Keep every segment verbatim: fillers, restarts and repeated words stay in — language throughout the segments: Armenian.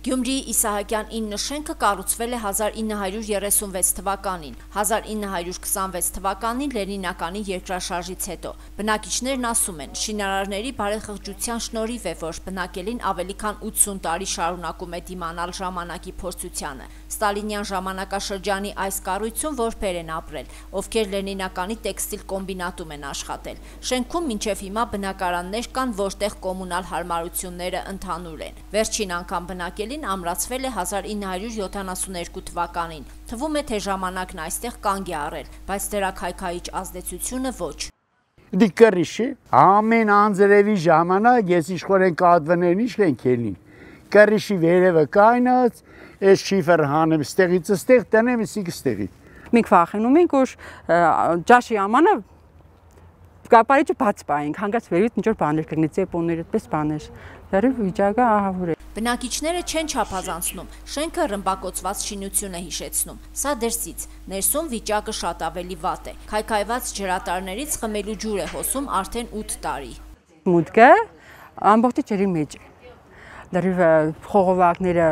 Գյումրիի Իսահակյան ինը շենքը կառուցվել է հազար ինը հարյուր երեսունվեց թվականին, հազար ինը հարյուր քսանվեց թվականին Լենինականի երկրաշարժից հետո։ Բնակիչներն ասում են, շինարարների բարեխղճության շնորհիվ է, որ բնակելին ավելի քան ութսուն տարի շարունակում է դիմանալ ժամանակի փորձությանը։ Ստալինյան ժամանակաշրջանի այս կառույցում որբեր են ապրել, ովքեր Լենինականի տեքստիլ կոմբինատում են աշխատել։ Շենքում մինչև հիմա բնակարաններ կան, որտեղ կոմունալ հարմարությունները ընդհանուր են։ Վերջին անգամ բնակելին ամրացվել է հազար ինը հարյուր յոթանասունհինգ թվականին։ Թվում է, թե ժամանակն այստեղ կանգ է առել, բայց դրա քայքայիչ ազդեցությունը ոչ։ Դիկրիշի ամեն անձրևի ժամանակ ես իշխորեն կադվներն ինչ են քելին։ Կրիշի վերևը կայնած, ես շիֆեր հանեմ ստեղից ստեղ տնեմ իսիկ ստեղի։ Մենք վախենում ենք, որ ջաշի ամանը կապարիչը բաց պայենք, հանգած վերևից ինչ որ բաներ կգնի, ծեպոններ, այդպես բաներ։ Դեռ վիճակը ահավոր է։ Բնակիչները չեն չափազանցնում, շենքը ռմբակոծված շինություն է հիշեցնում։ Սա դրսից, ներսում վիճակը շատ ավելի վատ է։ Քայքայված ջրատարներից խմելու ջուր է հոսում արդեն ութ տարի։ Մուտքը ամբողջի ջրի մեջ է։ Դեռ խողովակները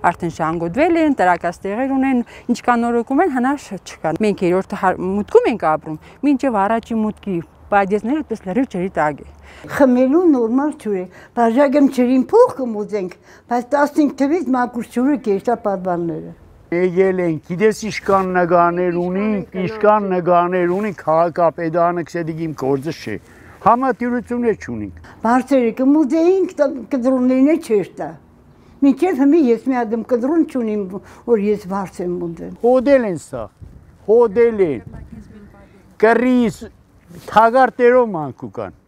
արդեն շանգոդվել են, տրակած տեղեր ունեն, ինչ կանորոգում են, հնարշ չկա։ Մենք երրորդ մուտքում ենք ապրում, մինչև առաջի մուտքի պայդեզները այդպես լրիվ ջրի տակ է։ Խմելու նորմալ ջուր է, բաժակում ջրին փող կմուծենք, բայց տասնհինգ թվից մաքուր ջուրը կերտա պատվանները։ Եկել են, գիտես իշքան նգաներ ունենք, իշքան նգաներ ունենք, քաղաքապետարանը քսեդիկ իմ գործը չէ։ Համատյուրություններ չունենք։ Բարձերը կմուծեինք, կդրոններն չէր տա։ Մինչև հիմա ես մի ադմ կդրոն չունիմ, որ ես բարձ եմ մուծել։ Հոդել են սա, հոդել են, կռիս, թագարտերով մանքու կան։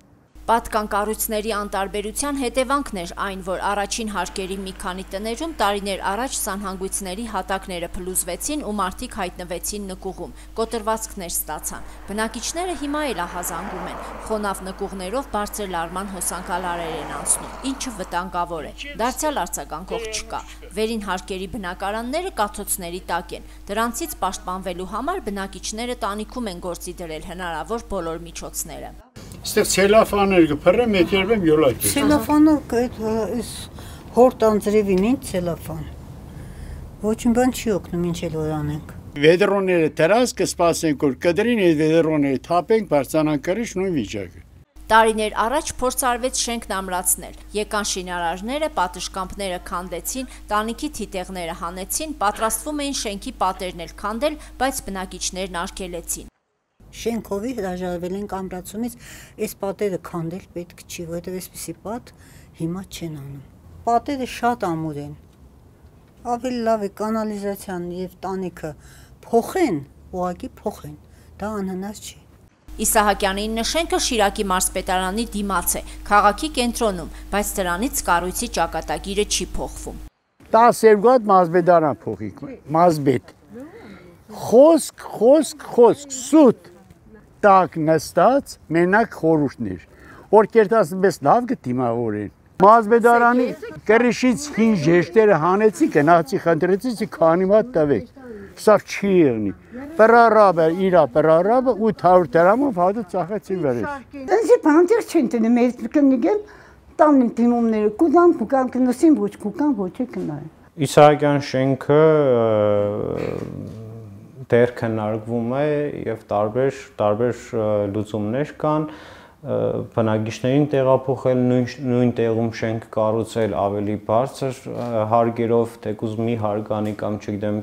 Պատկան կառույցների անտարբերության հետևանքն էր այն, որ առաջին հարկերի մի քանի տներում տարիներ առաջ սանհանգույցների հատակները փլուզվեցին ու մարդիկ հայտնվեցին նկուղում, կոտրվածքներ ստացան։ Բնակիչները հիմա էլ ահազանգում են, խոնավ նկուղներով բարձր լարման հոսանքալարեր են անցնում, ինչը վտանգավոր է։ Դարձյալ արձագանքող չկա։ Վերին հարկերի բնակարանները կաթոցների տակ են։ Դրանցից պաշտպանվելու համար բնակիչները տանիքում են գործի դրել հնարավոր բոլոր միջոցները։ Ստեղ ցելոֆաներ կփռեմ, եկերվեմ յոլակ։ Ցելոֆանով այս հորտ անձրևին ինչ ցելոֆան։ Ոչինչ բան չի օգնում, ինչ էլ որ անենք։ Վեդրոնները դրած կսպասենք, որ կդրին այդ վեդրոնները թափենք, բարձրանան կրիշ նույն վիճակը։ Տարիներ առաջ փորձ արվեց շենքն ամրացնել։ Եկան շինարարները, պատշգամբները քանդեցին, տանիքի թիթեղները հանեցին, պատրաստվում էին շենքի պատերն էլ քանդել, բայց բնակիչներն արգելեցին։ Շենքովի հրաժարվել ենք ամրացումից, այս պատերը քանդել պետք չի, որովհետև այսպիսի պատ հիմա չեն անում։ Պատերը շատ ամուր են։ Ավելի լավ է կանալիզացիան եւ տանիքը փոխեն, ուղղակի փոխեն։ Դա անհնար չի։ Իսահակյանի ինը շենքը Շիրակի մարզպետարանի դիմաց է, քաղաքի կենտրոնում, բայց դրանից կառույցի ճակատագիրը չի փոխվում։ տասներկու հատ մարզպետարան փոխիկ, մարզպետ։ Խոսք, խոսք, խոսք, սուտ տակ նստած մենակ խորհուրդներ, որ կերտասնպես լավ կդիմավորեն։ Մարզպետարանի կրիշից հին ժեշտերը հանեցի, գնացի խնդրեցի, քանի մատ տվեք։ Սա չի եղնի։ Պրարաբը, իրա պրարաբը ութ հարյուր դրամով հատը ծախեցի վերես։ Դրանցի բանտեր չեն տնի, մեծ կնգեն տանին դիմումները, կուտան կուկան կնսին, ոչ կուկան, ոչ է կնային։ Իսահակյան շենքը դեռ քննարկվում է եւ տարբեր տարբեր լուծումներ կան, բնակիչներին տեղափոխել, նույն տեղում շենք կառուցել ավելի բարձր հարկերով, թեկուզ մի հարկանի կամ չգիտեմ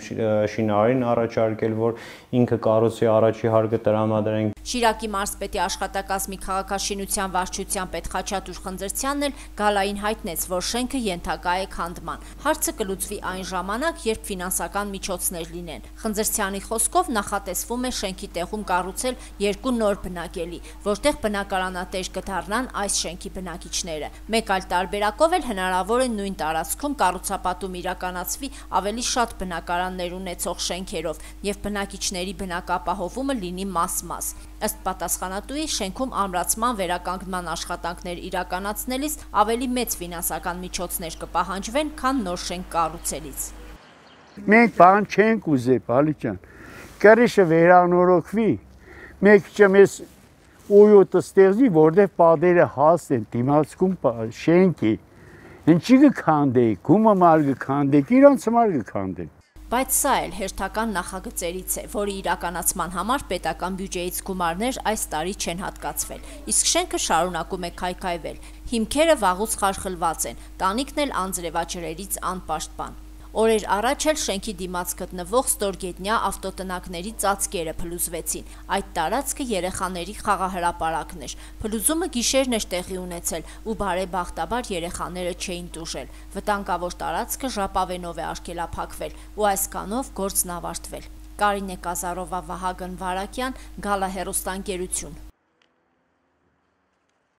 շինարարին առաջարկել, որ ինքը կառուցի առաջի հարկը տրամադրենք։ Շիրակի մարզպետի աշխատակազմի քաղաքաշինության վարչության պետ Խաչատուր Խնձրցյանն էլ գալային հայտնեց, որ շենքը ենթակա է քանդման։ Հարցը կլուծվի այն ժամանակ, երբ ֆինանսական միջոցներ լինեն։ Խնձրցյանի խոսքով նախատեսվում է շենքի տեղում կառուցել երկու նոր բնակելի, որտեղ բնակարանատեր կդառնան այս շենքի բնակիչները։ Մեկ այլ տարբերակով էլ հնարավոր է նույն տարածքում կառուցապատում իրականացվի ավելի շատ բնակարաններ ունեցող շենքերով եւ բնակիչների բնակապահովումը լինի մաս-մաս։ Ըստ պատասխանատուի, շենքում ամրացման վերականգնման աշխատանքներ իրականացնելիս ավելի մեծ ֆինանսական միջոցներ կպահանջվեն, քան նոր շենք կառուցելիս։ Մենք բան չենք ուզել, Բալիջան։ Կրիշը վերանորոգվի, մեկ չմես ույոտը ստեղծի, որտեղ պատերը հաստ են, դիմացքում շենքի, Ինչի կքանդեի, գումը մար կքանդեի, իրանց մար կքանդեի։ Բայց սա էլ հերթական նախագծերից է, որի իրականացման համար պետական բյուջեից գումարներ այս տարի չեն հատկացվել, իսկ շենքը շարունակում է քայքայվել, հիմքերը վաղուց խարխլված են, տանիքն էլ անձրևաջրերից անպաշտպան։ Օրեր առաջ էլ շենքի դիմաց գտնվող ստորգետնյա ավտոտնակների ծածկերը փլուզվեցին, այդ տարածքը երեխաների խաղահրապարակն էր, փլուզումը գիշերն էր տեղի ունեցել ու բարեբախտաբար երեխաները չէին տուժել, վտանգավոր տարածքը ժապավենով է արգելափակվել ու այս կանով գործն ավարտվել։ Կարինե Կազարովա, Վահագն Վարակյան, Գալա հեռուստաընկերություն։